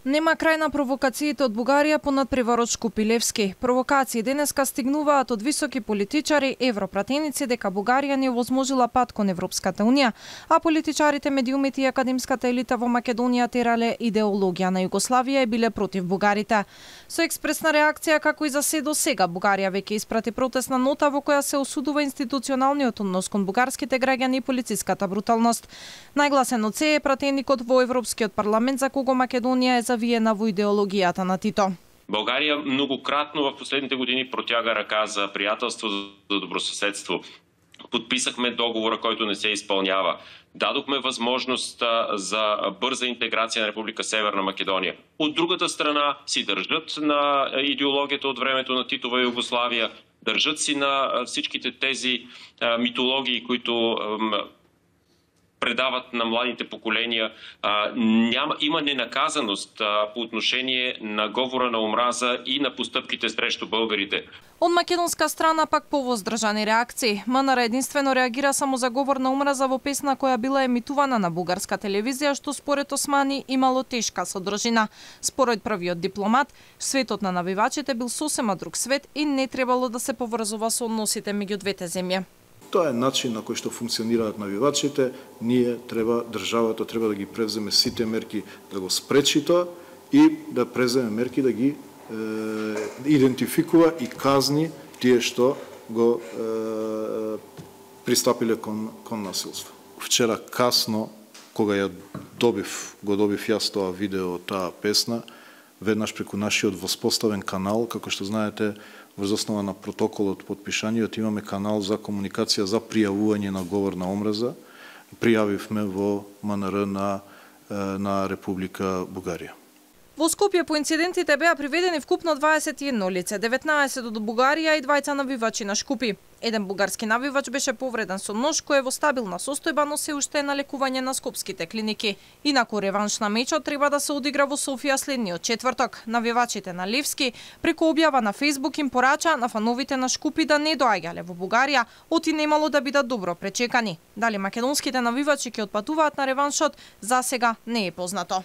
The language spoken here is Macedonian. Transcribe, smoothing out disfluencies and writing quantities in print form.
Нема крај на провокациите од Бугарија по надпреварот Шкупи Левски. Провокации денеска стигнуваат од високи политичари, европратеници дека Бугарија не овозможила пат кон Европската унија, а политичарите, медиумите и академската елита во Македонија терале идеологија на Југославија и биле против бугарите. Со експресна реакција, како и за се до сега, Бугарија веќе испрати протестна нота во која се осудува институционалниот однос кон бугарските граѓани и полициската бруталност. Најгласен од се е пратеникот во Европскиот парламент за кого Македонија е завиена во идеологијата на Тито. България многократно в последните години протяга ръка за приятелство, за добросъседство. Подписахме договора, който не се изпълнява. Дадохме възможност за бърза интеграция на Република Северна Македония. От другата страна си държат на идеологията от времето на Титова Югославия, държат си на всичките тези митологии, които предават на младите поколения. Има ненаказаност по отношение на говора на омраза и на постъпките срещу българите. Од македонска страна пак повоздржани реакции. МНР единствено реагира само за говор на омраза во песна која била емитувана на бугарска телевизија, што според Османи имало тешка содржина. Според првиот дипломат, светот на навивачите бил сосема друг свет и не требало да се поврзува со односите меѓу двете земји. Тоа е начин на кој што функционираат навивачите. Државата треба да ги превземе сите мерки да го спречи тоа и да преземе мерки да ги идентификува и казни тие што го пристапиле кон насилство. Вчера касно, кога го добив јас тоа видео, таа песна, веднаш преку нашиот воспоставен канал, како што знаете, врз основа на протоколот подпишаниот имаме канал за комуникација за пријавување на говор на омраза. Пријавивме во МНР на Република Бугарија. Во Скопје по инцидентите беа приведени вкупно 21 лице, 19 од Бугарија и 2 навивачи на Шкупи. Еден бугарски навивач беше повреден со нож кој е во стабилна состојба, но се уште е на лекување на скопските клиники. Инаку реванш на мечот треба да се одигра во Софија следниот четврток. Навивачите на Левски преку објава на Facebook им порача на фановите на Шкупи да не доаѓале во Бугарија, оти немало да бидат добро пречекани. Дали македонските навивачи ќе отпатуваат на реваншот, за сега не е познато.